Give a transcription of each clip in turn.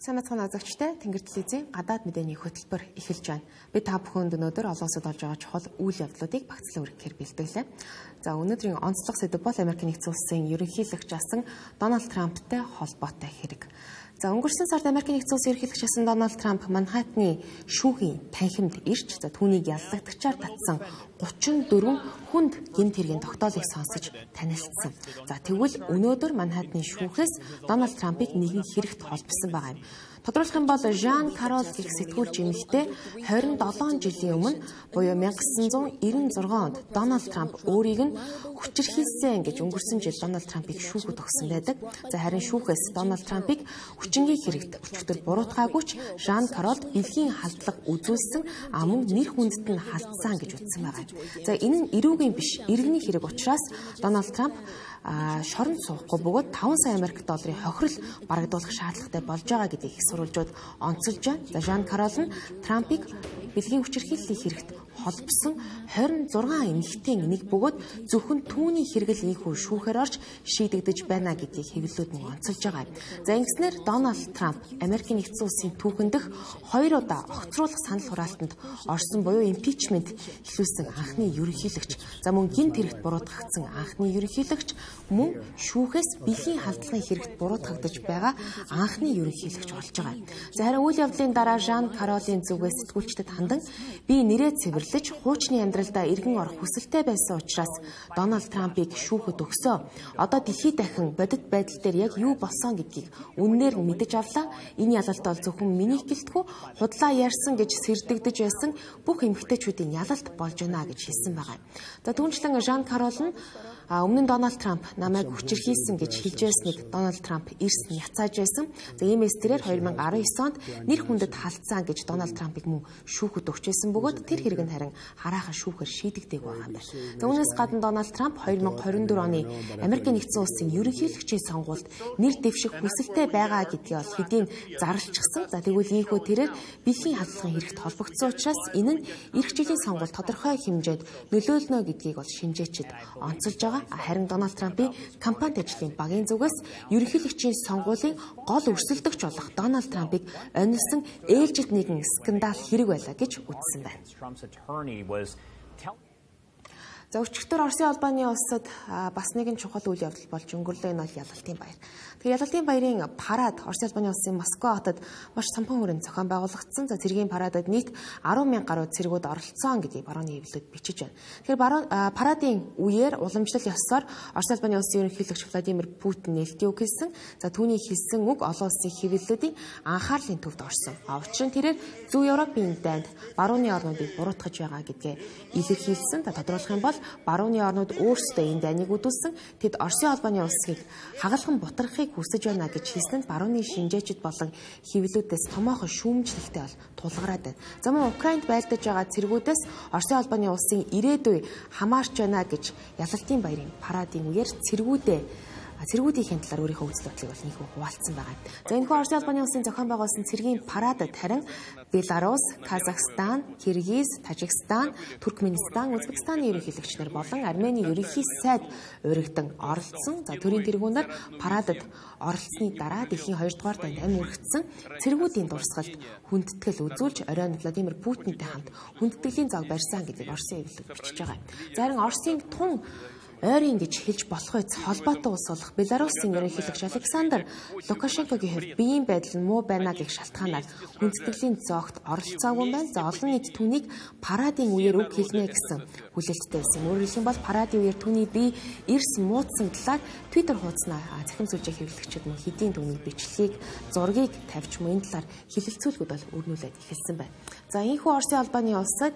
Сайн мэцхан азагчтай Тэнгэр телевизийн гадаад мэдээний хөтөлбөр эхэлж байна. Би та бүхэнд өнөөдөр олон улсад болж байгаа чухал үйл явдлуудыг багцлан өргөхөөр бэлтгэлээ. За өнөөдрийн онцлог сэдэв бол Америкийн нэгдсэн улсын ерөнхийлөгч асан Дональд Трамптай холбоотой хэрэг. За өнгөрсөн сард Америкийн нэгдсэн улсын ерөнхийлөгч асан Дональд Трамп Манхэттны шүүхийн танхимд ирж түүнийг яллагтагчаар татсан 34 хүнд гэмт хэргийн тогтоолыг сонсож танилцсан. За тэгвэл өнөөдөр Манхэттны шүүхээс Дональд Трампыг нэгэн хэрэгт холбосон байгаа юм. Тодруулах юм бол Жан Карол гэх сэтгүүлч эмэгтэй 27 жилийн өмнө буюу 1996 онд Дональд Трамп өөрийг нь хүчирхийлсэн гэж өнгөрсөн жил Дональд Трампыг шүүхэд өгсөн байдаг. За харин шүүхээс Дональд Трампыг хүчингийн хэрэгт өчигдөр буруутгаагүй ч Жан Карол бэлгийн халдлага үзүүлсэн мөн нэр хүндэд нь халтсан гэж үзсэн байгаа. За энэ нь эрүүгийн биш, иргэний хэрэг учраас Дональд Трамп шоронд суухгүй бөгөөд 5 сая Америк долларын хохирол барагдуулах шаардлагатай болж байгаа гэдгийг их сурвалжууд онцолж байна. За Жан Карол нь Трампыг бэлгийн хүчирхийллийн хэрэгт холбосон 26 эмэгтэйн нэг бөгөөд зөвхөн түүний хэрэгэл ийхүү шүүхээр орж шийдэгдэж байна гэдгийг хэвлэлүүд нь онцолж байгаа. За ингэснээр Дональд Трамп Америкийн нэгдсэн улсын түүхэн дэх 2 удаа огцруулах санал хураалтанд орсон буюу импичмент эхлүүлсэн анхны ерөнхийлөгч. За мөн гинт хэрэгт буруутгагдсан анхны ерөнхийлөгч мөн шүүхээс бэлгийн халдлагын хэрэгт буруутгагдаж байгаа анхны ерөнхийлөгч болж байгаа. За харин үйл явдлын дараа Жан Каролын зүгээс сэтгүүлчдэд хандан би нэрээ цэвэрлэж хуучны амьдралдаа иргэн орох хүсэлтэй байсан учраас Дональд Трампыг шүүхэд өгсөө. Одоо дэлхийд дахин бодит байдал дээр яг юу болсон гэдгийг үннээр нь мэдэж авлаа. Энэ ялалт бол зөвхөн миний гэлтгүү худлаа ярьсан гэж сэрдэгдэж байсан бүх эмэгтэйчүүдийн ялалт болж байна гэж хэлсэн байгаа. За түүнчлэн Жан Карол нь өмнө нь Дональд Трамп намайг хүчирхийлсэн гэж хэлж байсныг Дональд Трамп эрс нь яцааж байсан. За иймээс тэрээр 2019 онд нэр хүндэд халтсан гэж Дональд Трампыг мөн шүүхэд өгч байсан бөгөөд тэр хэрэг нь харин хараахан шүүхээр шийдэгдээг байгаа юм байна. За үүнээс гадна Дональд Трамп 2024 оны Америкийн нэгдсэн улсын ерөнхийлөгчийн сонгуульд нэр дэвших хүсэлтэй байгаа гэдгийг бол хэдийн зарлчихсан. За тэгвэл ийхүү тэрээр бэлгийн халдлагын хэрэгт холбогдсон учраас энэ нь эх жилийн сонгуульд тодорхой хэмжээнд нөлөөлнө гэдгийг бол шинжээчид онцолж байгаа. Харин Дональд Трампын кампанит ажлын багийн зүгээс ерөнхийлөгчийн сонгуулийн гол өрсөлдөгч болох Дональд Трампыг онилсон ээлжид нэгэн скандал хэрэг байлаа гэж үзсэн байна. За өчигдөр Оросын албаны улсад бас нэгэн чухал үйл явдал болж өнгөрлөө. Энэ бол ялалтын баяр. Тэгэхээр ялалтын баярын парад Оросын албаны улсын Москва хотод маш самхан хүрээнд зохион байгуулагдсан. За цэргийн парадад нийт 10,000 гаруй цэргүүд оролцсон гэдгийг барууны хэвлэлүүд бичиж байна. Тэгэхээр парадын үеэр уламжлал ёсоор Оросын албаны улсын ерөнхийлөгч Владимир Путин нээлтийн үг хэлсэн. За түүний хэлсэн үг олон улсын хэвлэлүүдийн анхаарлын төвд орсон. Учир нь тэрээр Зөв Европын дайнд барууны орнуудыг буруутгаж байгаа гэдгээ илэрхийлсэн. Тодруулах юм бол барууны орнууд өөрсдөө энэ дайныг үдүүлсэн. Тэд Оросын албаны улсыг хагалхан бутархахыг хүсэж байна гэж хэлсэнд барууны шинжээчид болон хэвлэлүүдээс томоохон шүүмжлэлтэй бол тулгараад байна. За мөн Украинд байлдаж байгаа цэргүүдээс Оросын албаны улсын ирээдүй хамаарч байна гэж ялалтын баярын парадын үеэр цэргүүдийн талаар өөрийнхөө үзэл бодлыг бол нийхүү хуваалцсан байгаа. За энэхүү Оросын албаны улсын зохион байгуулсан цэргийн парадад харин Беларусь, Казахстан, Киргиз, Тажикстан, Туркменистан, Узбекистаны ерөнхийлөгчнөр болон Армени ерөнхий сайд урагдсан оролцсон. За төрийн тэргүүнээр парадад оролцсны дараа дэлхийн 2 дугаар дайнд амь үргэлжсэн цэргүүдийн дурсгалд хүндэтгэл үзүүлж оройн Владимир Путинтэй хамт хүндэтгэлийн зог барьсан гэдгийг Оросын хэвлэлүүд бичиж байгаа. За харин Оросын тун ойрын гэж хэлж болох үс холбоотой улс болох Беларусын ерөнхийлөгч Александр Лукашенкогийн хувьд биеийн байдал нь муу байна гэх шалтгаанаар хүндэтгэлийн зоогт оролцоогүй байна. За олон нийт түүнийг парадын үеэр үг хэлнэ гэсэн хүлээлттэй байсан. Өөрөөр хэлбэл парадын үеэр түүний бие эрс муудсан талаар Twitter хуудаснаа захим сүлжээ хэвлэгчид мөн хэдийн түүний бичлэгийг, зургийг тавьж мөн энэ талаар хилэлцүүлгүүд бол өрнүүлээд эхэлсэн байна. За энэхүү Оросын албаны улсад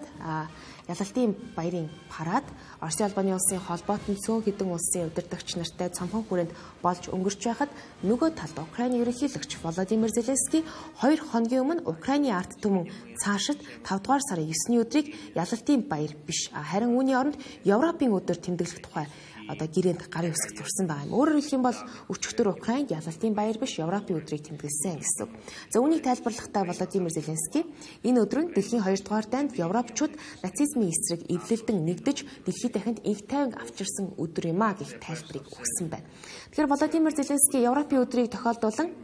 ялалтын баярын парад Оросын албаны улсын холбоотон цөөн хэдэн улсын удирдагч нартай цомхон хүрээнд болж өнгөрч байхад нөгөө талд Украины ерөнхийлөгч Володимир Зеленский 2 хоногийн өмнө Украины ард түмэн цаашид 5 дугаар сарын 9-ний өдрийг ялалтын баяр биш харин үүний оронд Европын өдөр тэмдэглэх тухай гэрээнд гарын үсэг зурсан байгаа юм. Өөрөөр хэлэх юм бол өчигдөр Украинд ялалтын баяр биш Европын өдрийг тэмдэглэсэн гэсэн. За үүнийг тайлбарлахдаа Володимир Зеленский энэ өдөр нь дэлхийн 2 дугаар дайнд Европчууд нацизмын эсрэг эвлэлдэн нэгдэж дэлхийд дахинд инх тайван авчирсан өдөр юм а гэх тайлбарыг өгсөн байна. Тэгэхээр Володимир Зеленский Европын өдрийг тохиолдуулан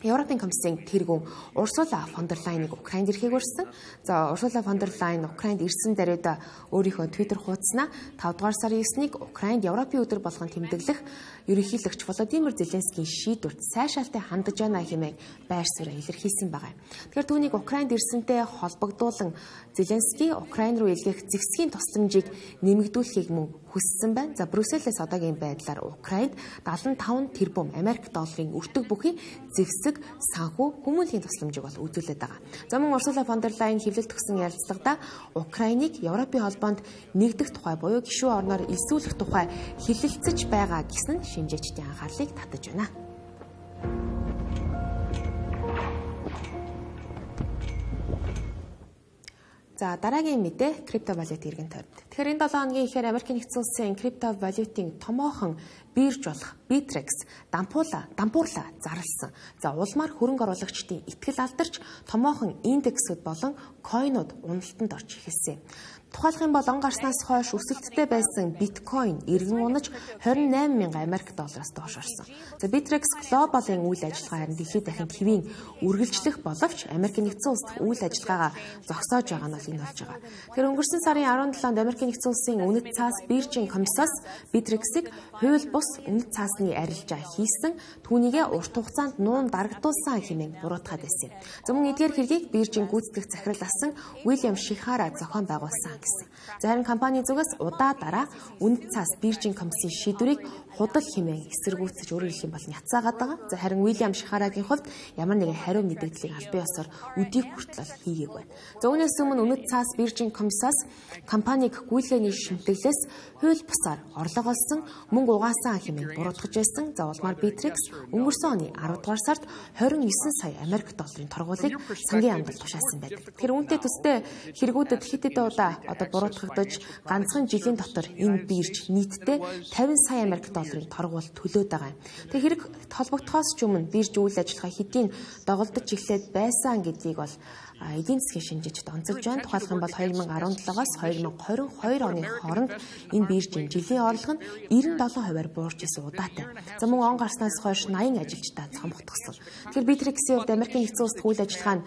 Европын комиссийн тэргүүн Урсула фон дер Лайныг Украинд ирэхийг урьсан. За Урсула фон дер Лайн Украинд ирсэн даруйда өөрийнхөө Twitter хуудаснаа 5 дугаар сарын 9-ний Украинд Европын өдөр болгон тэмдэглэх ерөнхийлөгч Володимир Зеленскийн шийдвэрт сайшаалтай хандаж байна хэмээн байр суурь илэрхийлсэн байгаа. Тэгэхээр түүнийг Украинд ирсэнтэй холбогдуулан Зеленский Украин руу илгээх зэвсгийн тусламжийг нэмэгдүүлэхийг мөн хүссэн байна. За Брюсселээс одоогийн байдлаар Украинд 75 тэрбум Америк долларын өртөг бүхий зэвсэг санхүү хүмүүнлэгийн тусламжийг бол үзүүлээд байгаа. За мөн Урсула фон дер Лайн хэвлэлт өгсөн ярилцлагада Украиныг Европын холбоонд нэгдэх тухай буюу гишүүн орноор элсүүлэх тухай хэлэлцэж байгаа гэсэн шинжээчдийн анхаарлыг татаж байна. За дараагийн мэдээ криптовалют иргэн тойрон. Тэгэхээр энэ 7 хоногийн ихээр Америкийн нэгдсэн улсын криптовалютын томоохон бирж болох Bittrex дампуурлаа зарласан. За улмаар хөрөнгө оруулагчдын итгэл алдарч томоохон индексүүд болон койнууд уналтанд орж эхэлсэн. Тухайлах юм бол он гарснаас хойш өсөлттэй байсан биткойн эргэн унаж 28,000 Америк доллараас доош орсон. За Bittrex Global-ын үйл ажиллагаа харин дэлхийд дахин хэвийн үргэлжлэх боловч Америкийн нэгдсэн улс дахь үйл ажиллагаагаа зогсоож байгаа нь энэ болж байгаа. Тэгэхээр өнгөрсөн сарын 17-нд Америкийн нэгдсэн улсын үнэт цаас биржийн комиссаас Bittrex-ийг хууль бус үнэт цаасны арилжаа хийсэн, түүнийгээ урт хугацаанд нуун дарагдуулсан хэмээн буруутгаад байсан. За мөн эдгээр хэргийг биржийн гүйцэтгэх захирал асан Уильям Шихара зохион байгуулсан гэсэн. За харин компани зүгээс удаа дараа үнэт цаас биржийн комиссийн шийдвэрийг худал хэмээн эсэргүүцэж өөрөөр хэлэх юм бол няцаагаад байгаа. За харин Уильям Шихарагийн хувьд ямар нэгэн хариу мэдээллийг албан ёсоор өдийг хүртэл хийгээг байна. За үүнээс өмнө үнэт цаас биржийн комиссаас компаниг гүйцэтгэлийн шимтгэлээс хууль бусаар орлого олсон, мөнгө угаасан хэмээн буруутгаж байсан. За улмаар Bittrex өнгөрсөн оны 10 дугаар сард 29 сая Америк долларын торгуулийг сангийн амгалд тушаасан байдаг. Тэгэхээр үүнтэй төстэй хэрэгүүдэд хэд хэдэн удаа буруутгагдаж ганцхан жилийн дотор энэ бирж нийтдээ 50 сая Америк долларын торгуул төлөөд байгаа юм. Тэгээ хэрэг холбогдохоос ч өмнө бирж үйл ажиллагаа хэдийн доголдож эхлээд байсан гэдгийг бол эдийн засгийн шинжээчд онцолж байна. Тухайлх юм бол 2017-аас 2022 оны хооронд энэ биржийн жилийн орлого нь 97%-аар буурч исэн удаатай. За мөн он гарснаас хойш 80 ажилчдаа цомгтгсон. Тэгэхээр Bittrex-ийн хувьд Америкийн нэгдсэн улс үйл ажиллагаа нь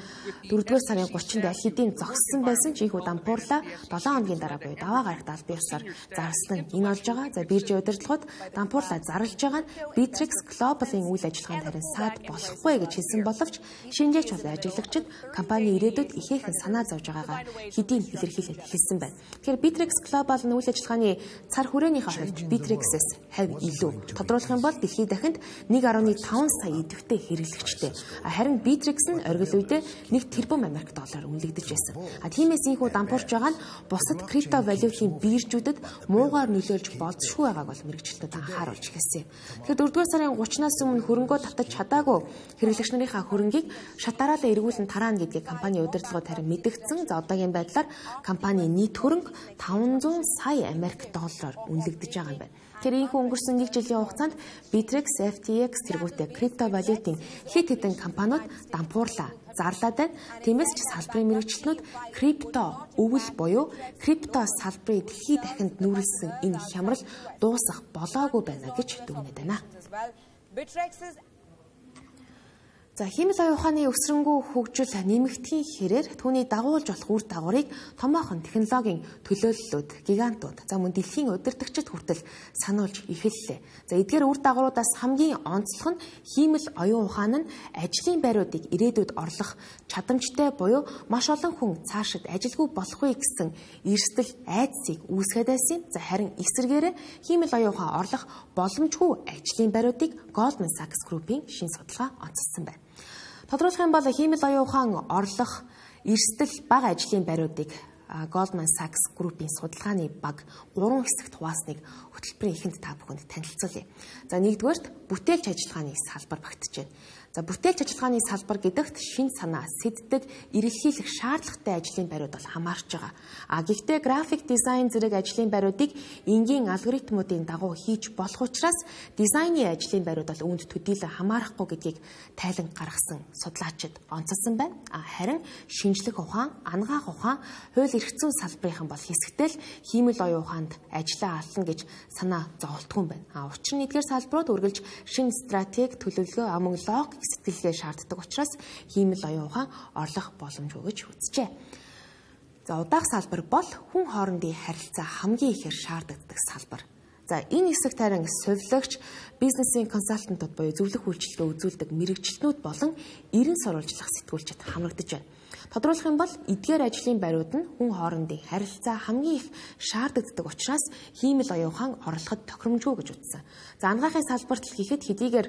4-р сарын 30-нд аль хэдийн зогссон байсан ч ийхүү дампуурлаа 7 хоногийн дараа буюу даваа гарагт албан ёсоор зарласан нь энэ болж байгаа. За биржийн удирдлагууд дампуурлаа зарлж байгаа нь Bittrex Global-ын үйл ажиллагаанд харин саад болохгүй гэж хэлсэн боловч шинжээч бол ажиглагчид компани ирээдүйд ихээхэн санаа зовж байгаагаа хэдийн илэрхийлээд хэлсэн байна. Тэгэхээр Bittrex Global нь үйл ажиллагааны цар хүрээнийхээ хувьд Bittrex-ээс хавь илүү. Тодруулах юм бол дэлхийд дахинд 1.5 сая идэвхтэй хэрэглэгчтэй. Харин Bittrex нь оргил үедээ 1 тэрбум Америк доллараар үнэлэгдэж байсан. Тиймээс ийхүү дампуурч байгаа нь бусад криптовалютын биржүүдэд муугаар нөлөөлж болзошгүй байгааг бол мэрэгчлэлтүүд анхааруулж эхэлсэн. Тэгэхээр 4-р сарын 30-наас өмнө хөрөнгөө татаж чадаагүй хэрэглэгч нарынхаа хөрөнгийг шатаараа эргүүлэн тараана гэдгийг компани удирдлагууд харин мэдгдсэн. За одоогийн байдлаар компани нийт хөрөнгө 500 сая Америк доллараар үнэлэгдэж байгаа юм байна. Тэр ийхүү өнгөрсөн 1 жилийн хугацаанд Bittrex, FTX тэргүүтээ криптовалютын хэд хэдэн компаниуд дампуурлаа зарлаад байна. Тиймээс ч салбарын мэрэгчлэнүүд крипто өвөл буюу крипто салбарыг дэлхийд дахинд нүүрлсэн энэ хямрал дуусах болоогүй байна гэж дүгнээд байна. За химэл оюун ухааны өсрөнгөө хөгжил нэмэгдэхийн хэрээр түүний дагуулж болох үр дагаврыг томоохон технологийн төлөөллүүд, гигантууд, за мөн дэлхийн удирдагчид хүртэл сануулж эхэллээ. За эдгээр үр дагавруудаас хамгийн онцлог нь химэл оюун ухаан нь ажлын байруудыг ирээдүйд орлох чадамжтай буюу маш олон хүн цаашид ажилгүй болохгүй гэсэн эрсдэл айдсыг үүсгээд байсан. За харин эсвэргээрээ химэл оюун ухаан орлох боломжгүй ажлын байруудыг Goldman Sachs Group-ийн шин судалгаа онцлсан байна. Тодруулах юм бол химэл оюун ухаан орлох эрсдэл бага ажлын байруудыг Goldman Sachs Group-ийн судалгааны баг 3 хэсэгт хуваасныг хөтөлбөрийн эхэнд та бүхэнд танилцуулъя. За нэгдүгээрт бүтээлч ажиллагааны салбар багтж байна. За бүтээлч ажиллагааны салбар гэдэгт шин санаа, сэддэг, эрэлхийлэх шаардлагатай ажлын байрууд бол хамаарч байгаа. Гэхдээ график дизайн зэрэг ажлын байруудыг энгийн алгоритмуудын дагуу хийж болох учраас дизайны ажлын байрууд бол үүнд төдийлөн хамаарахгүй гэдгийг тайлан гаргасан судлаачид онцолсон байна. Харин шинжлэх ухаан, ангаах ухаан, хууль эрх зүйн салбарынхан бол хэсэгтэл химэл оюун ухаанд ажиллаа ална гэж санаа зовлтгүй юм байна. Учир нь эдгээр салбарууд үргэлж шинэ стратеги, төлөвлөгөө, мөн логик сэтгэлгээ шаарддаг учраас хиймэл оюун ухаан орлох боломжгүй гэж үзжээ. За удаах салбар бол хүн хоорондын харилцаа хамгийн ихээр шаарддаг салбар. За энэ хэсэгт харин сувилагч, бизнесийн консалтантууд буюу зөвлөх үйлчилгээ үзүүлдэг мэрэгчлэнүүд болон эрен сурвалжлах сэтгүүлчид хамрагдаж байна. Тодруулах юм бол эдгээр ажлын бариуд нь хүн хоорондын харилцаа хамгийн их шаарддаг учраас хиймэл оюун ухаан орлоход тохиромжгүй гэж үзсэн. За анагаахын салбарт л гэхэд хэдийгээр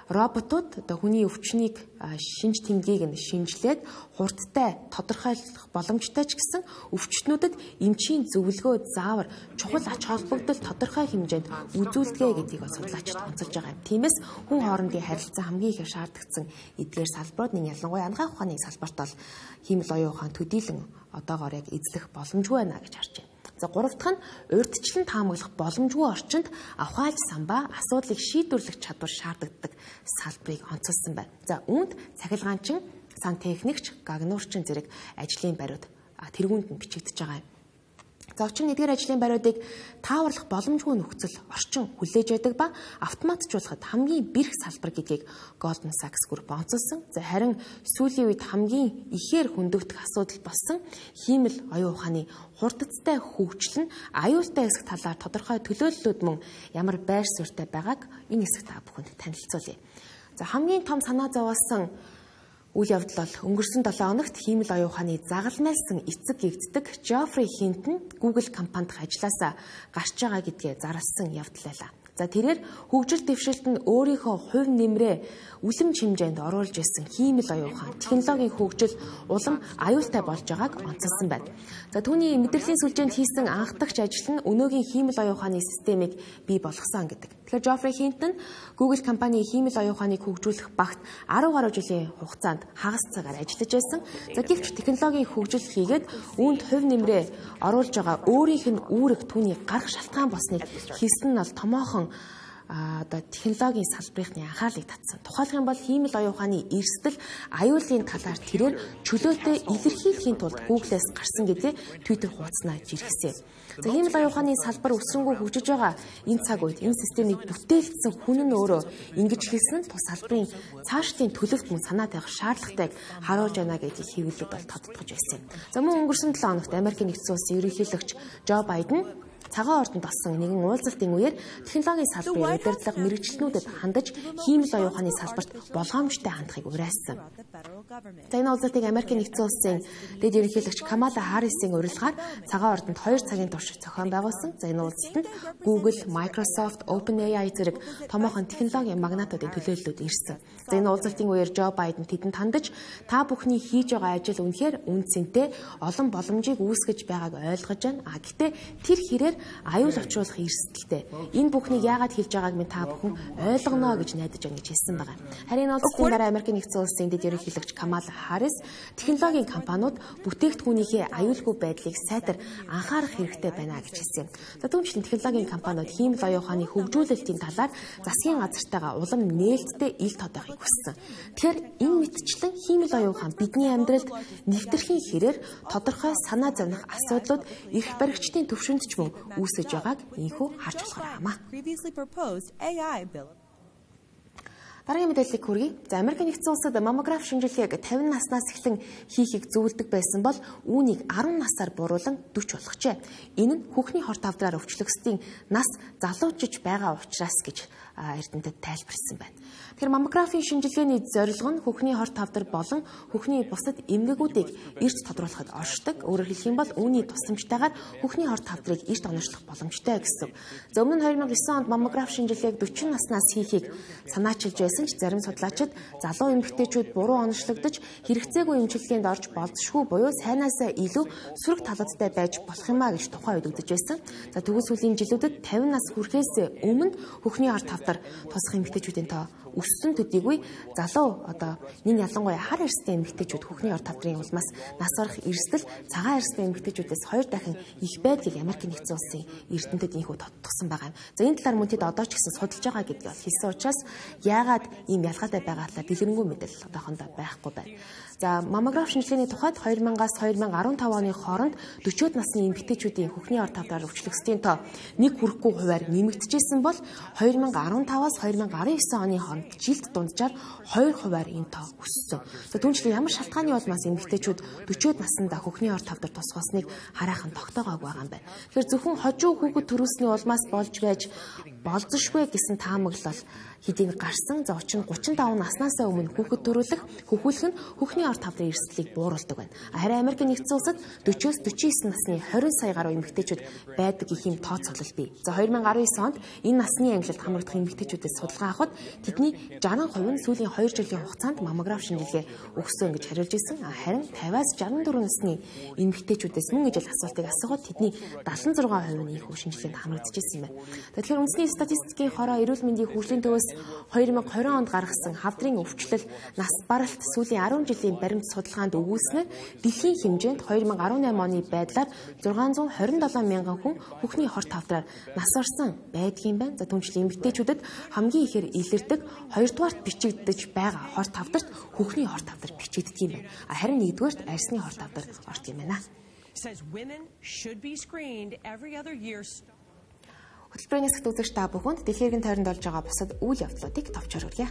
роботууд одоо хүний өвчнийг шинж тэмдгийг нь шинжилээд хурдтай тодорхойлох боломжтой ч гэсэн өвчтнүүдэд эмчийн зөвлөгөө заавар чухал ач холбогдол тодорхой хэмжээнд үзүүлдэг гэдгийг судлаачид онцолж байгаа юм. Тиймээс хүн хоорондын харилцаа хамгийн их шаардагдсан эдгээр салбарууд нь ялангуяа анагаах ухааны салбарт бол хиймэл оюун ухаан төдийлөн одоогоор яг эзлэх боломжгүй байна гэж харж байна. За гурав дахь нь урьдчилан таамаглах боломжгүй орчинд авахаалж самбаа асуудлыг шийдвэрлэх чадвар шаарддаг салбарыг онцолсон байна. За үүнд цахилгаанчин, сантехникч, гагнуурчин зэрэг ажлын бариуд тэргүүнд нь бичигдэж байгаа юм. За учир нь эдгээр ажлын бариудыг тааварлах боломжгүй нөхцөл орчин хүлээж байдаг ба автоматжуулахад хамгийн бэрх салбар гэдгийг Goldman Sachs Group онцолсон. За харин сүүлийн үед хамгийн ихээр хөндөгдөх асуудал болсон хиймэл оюун ухааны хурдцтай хөгжил нь аюултай хэсэг талаар тодорхой төлөөллүүд мөн ямар байр суурьтай байгааг энэ хэсэгт та бүхэнд танилцуулъя. За хамгийн том санаа зовоосон үйл явдал бол өнгөрсөн 7 хоногт хиймэл оюун ухааны загалмайлсан эцэг гэгддэг Жоффри Хинтон Google компанид ажилласаа гарч байгаа гэдгээ зарласан явдал байлаа. За тэрээр хөгжил дэвшилтэнд өөрийнхөө хувь нэмрээ үлэмж хэмжээнд оруулж ирсэн хиймэл оюун ухаан технологийн хөгжил улам аюултай болж байгааг онцолсон байна. За түүний мэдрэлийн сүлжээнд хийсэн анхдагч ажил нь өнөөгийн хиймэл оюун ухааны системийг бий болгосон гэдэг. Тэгэхээр Жоффри Хинтон Google компани хиймэл оюун ухааныг хөгжүүлэх багт 10 гаруй жилийн хугацаанд хагас цагаар ажиллаж байсан. За гэвч технологийн хөгжил хийгээд үүнд хувь нэмрээ оруулж байгаа өөрийнх нь үүрэг түүний гарах шалтгаан болсныг хийсэн нь бол томоохон одоо технологийн салбарынхны анхаарлыг татсан. Тухайлх юм бол хиймэл оюун ухааны эрсдэл аюулын талаар тэрээр чөлөөтэй илэрхийлэхийн тулд Google-ээс гарсан гэдэг Twitter хуудаснаа жиргсэн. За хиймэл оюун ухааны салбар өсрөнгөө хөгжиж байгаа энэ цаг үед энэ системийг бүтээлгдсэн хүн нь өөрөө ингэж хэлсэн нь тус салбарын цаашдын төлөвт мөн санаа тавих шаардлагатайг харуулж байна гэдгийг хэвлэлүүд бол тодтогч байсан. За мөн өнгөрсөн 7 хоногт Америкийн нэгдсэн улсын ерөнхийлөгч Жо Байден цагаан ордонд болсон нэгэн уулзалтын үеэр технологийн салбарын удирдлага мэрэгчлэнүүдэд хандаж хиймэл оюун ухааны салбарт болгоомжтой хандахыг уриалсан. За энэ уулзалтыг Америкийн нэгдсэн улсын дэд ерөнхийлөгч Камала Харрисийн урилгаар цагаан ордонд 2 цагийн турш зохион байгуулсан. За энэ уулзалтанд Google, Microsoft, OpenAI зэрэг томоохон технологийн магнатуудын төлөөллүүд ирсэн. За энэ уулзалтын үеэр Жо Байден тэдэнд хандаж та бүхний хийж байгаа ажил үнэхээр үн цэнтэй, олон боломжийг үүсгэж байгааг ойлгож байна. Гэхдээ тэр хэрээр аюул учруулах эрсдэлтэй. Энэ бүхнийг яагаад хэлж байгааг минь та бүхэн ойлгоно гэж найдаж байна гэж хэлсэн байна. Харин энэ уулзалтын дараа Америкийн нэгдсэн улсын дэд ерөнхийлөгч Камала Харрис технологийн компаниуд бүтээгдэхүүнийхээ аюулгүй байдлыг сайтар анхаарах хэрэгтэй байна гэж хэлсэн. За түүнчлэн технологийн компаниуд хиймэл оюун ухааны хөгжүүлэлтийн талаар засгийн газартайгаа улам нээлттэй ил тодохыг хүссэн. Тэгэхээр энэ мэтчлэн хиймэл оюун ухаан бидний амьдралд нэвтэрхийн хэрээр тодорхой санаа зовних асуудлууд эрх баригчдын төвшөнд ч мөн үүсэж байгааг инхүү харж болохоор хамаа. Дараагийн мэдээллийг хүргэе. За Америкийн нэгдсэн улсад маммограф шинжилгээг 50 наснаас эхлэн хийхийг зөвлөдөг байсан бол үүнийг 10 насаар буруулан 40 болгожээ. Энэ нь хүүхний хорт авдраар өвчлөгсдийн нас залуучж байгаа учраас гэж эрдэмтэд тайлбарлсан байна. Тэгэхээр маммографийн шинжилгээний зорилго нь хүүхний хорт авдар болон хүүхний бусад эмгэгүүдийг эрт тодруулахад оршдог. Өөрөөр хэлэх юм бол үүний тусламжтайгаар хүүхний хорт авдрыг эрт оношлох боломжтой гэсэн. За өмнө нь 2009 онд маммограф шинжилгээг 40 наснаас хийхийг санаачилж байсан ч зарим судлаачид залуу эмэгтэйчүүд буруу оношлогдож хэрэгцээгүй эмчилгээнд орж болзошгүй буюу сайнаасаа илүү сөрөг талуудтай байж болох юмаа гэж тухайн үед үзэж байсан. За тэгвэл сүүлийн жилүүдэд 50 нас хүрэхээс өмнө хүүхний хорт авдар тусах эмэгтэйчүүдийн тоо өссөн төдийгүй залуу одоо нэг ялангуяа хар эрстэй эмэгтэйчүүд хүүхний хорт авдрын улмаас нас барах эрсдэл цагаан эрстэй эмэгтэйчүүдээс 2 дахин их байдлыг Америкийн нэгдсэн улсын эрдэмтэд инхүү тодтогсон байгаа юм. За энэ талаар мөн тэд одоо ч гэсэн судалж байгаа гэдгийг хэлсэн учраас яагаад ийм ялгаатай байгаа талаар дэлгэрэнгүй мэдээлэл одоохондоо байхгүй байна. За маммограф шинжилгээний тухайд 2000-аас 2015 оны хооронд 40-од насны эмэгтэйчүүдийн хөхний ор тавдраар өвчлөгсдийн тоо нэг хүрэхгүй хувиар нэмэгдэжсэн бол 2015-аас 2019 оны хооронд жилд дунджаар 2% энэ тоо өссөн. За түүнчлэн ямар шалтгааны улмаас эмэгтэйчүүд 40-од наснда хөхний ор тавдар тусгасныг хараахан тогтоогоог байгаа юм байна. Тэгэхээр зөвхөн хожуу хүүхэд төрүүлсний улмаас болж байж болзошгүй гэсэн таамаглал хэдийн гарсан. За учир нь 35 наснаас өмнө хүүхэд төрүүлэх нь хөхний ор тавдрын эрсдлийг бууруулдаг байна. Харин Америк нэгдсэн улсад 40-оос 49 насны 20 сая гаруй эмэгтэйчүүд байдаг гэх юм тооцоолол бий. За 2019 онд энэ насны ангилалд хамрагдах эмэгтэйчүүдээс судалгаа авахад тэдний 60% нь сүүлийн 2 жилийн хугацаанд маммограф шинжилгээ өгсөн гэж хариулж ирсэн. Харин 50-аас 64 насны эмэгтэйчүүдээс мөн ижил асуултыг асуухад тэдний 76% нь ийхүү шинжилгээнд хамрагдчихсан юм байна. Тэгэхээр үндэсний статистикийн хороо эрүүл мэндийн хөгжлийн төвөөс 2020 онд гаргасан хавдрын өвчлөл нас баралт сүүлийн 10 жилийн баримт судалгаанд өгүүлснээр дэлхийн хэмжээнд 2018 оны байдлаар 627 мянган хүн хөхний хор тавдраар нас орсон байдгийн байна. За түүнчлэн эмэгтэйчүүдэд хамгийн ихээр илэрдэг 2-дугаарт бичигдэж байгаа хор тавдарт хөхний хор тавдар бичигддэг юм байна. Харин 1-дугаарт арьсны хор тавдар ордог юм байна. Хөтөлбөрийн хэсэгт үзэгч та бүхэнд дэлхийн иргэн тойронд болж байгаа бусад үйл явдлуудыг товчоор хүргье.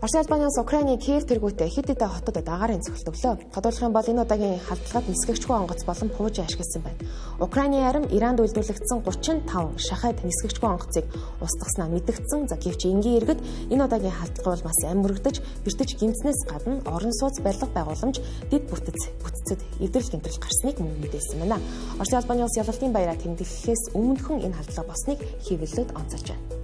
Орос Албаны улс Украины Киев тэргүүтээ хэд хэдэн хотод агаарын цогцолт өглөө. Тодорхойлох юм бол энэ удаагийн халдлагад нисгэгчгүй онгоц болон пуужи ашигласан байна. Украины харин Иранд үйлдвэрлэгдсэн 35 шахаад нисгэгчгүй онгоцыг устгаснаа мэдгдсэн. За гэвч энгийн иргэд энэ удаагийн халдлага бол бас ам мөрөгдөж, бэртэж гимцнээс гадна орон сууц барилга байгууламж, дэд бүтцэд эвдрэл гэмтрэл гарсныг мөн мэдээлсэн байна. Орос Албаны улс ялалтын баяраа тэмдэглэхээс өмнөхөн энэ халдлага болсныг хэвлэлд онцолж байна.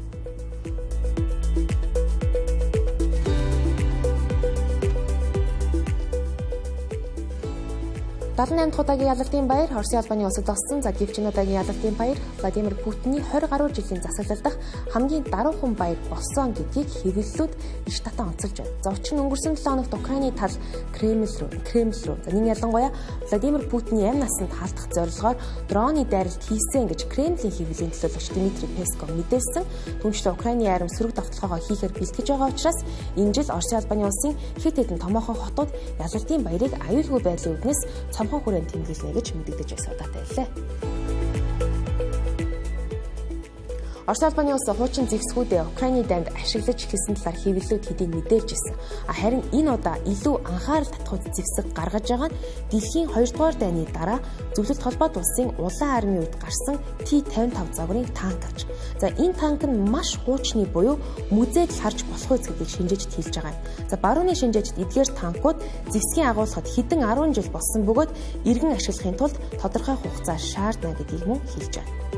78 дахь удаагийн ялалтын баяр Орос Албаны улсад болсон. За гэвч энэ удаагийн ялалтын баяр Владимир Путиний 20 гаруй жилийн засаглал дахь хамгийн даруухан баяр болсон гэдгийг хэвлэлүүд иш татан онцолж байна. За учир нь өнгөрсөн 7 хоногт Украины тал Кремль рүү. За нэг ялангуяа Владимир Путиний амь насанд хаалтах зорилгоор дроны дайралт хийсэн гэж Кремлийн хэвлэлийн төлөөлөгч Дмитрий Песков мэдээлсэн. Түүнчлэн Украины арим сөрөг давталгаагаа хийхээр бэлтгэж байгаа учраас энэ жил Орос Албаны улсын хэд хэдэн томоохон хотууд ялалтын баярыг аюулгүй байдлын үднэс цомхон хүрээнд тэмдэглэнэ гэж мэдэгдэж байсан удаатай байлээ. Орос Албаны улс хуучин зэвсгүүдээ Украины дайнд ашиглаж эхэлсэн талаар хэвлэлүүд хэдийн мэдээлж ирсэн. Харин энэ удаа илүү анхаарал татах зэвсэг гаргаж байгаа нь дэлхийн 2 дугаар дайны дараа Зөвлөлт холбоот улсын улаан армийн үед гарсан T-55 загварын танк аж. За энэ танк нь маш хуучны буюу мүзээд харж болох үс гэдгийг шинжээчд хэлж байгаа юм. За барууны шинжээчд эдгээр танкууд зэвсгийн агуулгад хэдэн 10 жил болсон бөгөөд иргэн ашиглахын тулд тодорхой хугацаа шаардна гэдгийг мөн хэлж байна.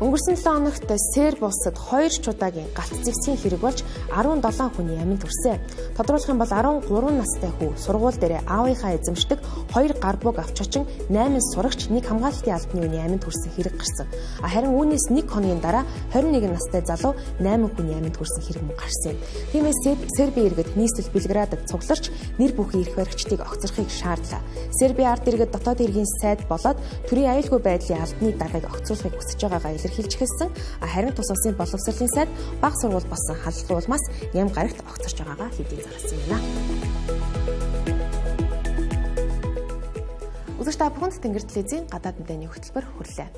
Өнгөрсөн 7 хоногт Серб улсад 2 чудаагийн галт зэвсгийн хэрэг болж 17 хүний амьд хүрсэн. Тодруулах юм бол 13 настай хүү сургууль дээр аавынхаа эзэмшдэг 2 гар буг авч очин 8 сурагч нэг хамгаалалтын албаны үний амьд хүрсэн хэрэг гарсан. Харин үүнээс 1 хоногийн дараа 21 настай залуу 8 хүний амьд хүрсэн хэрэг мөн гарсан юм. Тиймээс Сербийн иргэд нийслэл Белградад цугларч нэр бүхий эрх баригчдыг огцрохыг шаардлаа. Сербийн ард иргэд дотоод иргэн сайд болоод төрийн аюулгүй байдлын албаны даргаыг огцруулахыг хүсэж байгаагаа илэрхийлж эхэлсэн. Харин тус улсын боловсролын сайд бага сургууль болсон халдлагын улмаас ням гарагт огцорч байгаагаа хэдийн зарласан юм байна. Үзэгч та бүхэнд Тэнгэр телевизийн гадаад мэдээний хөтөлбөр хүрлээ.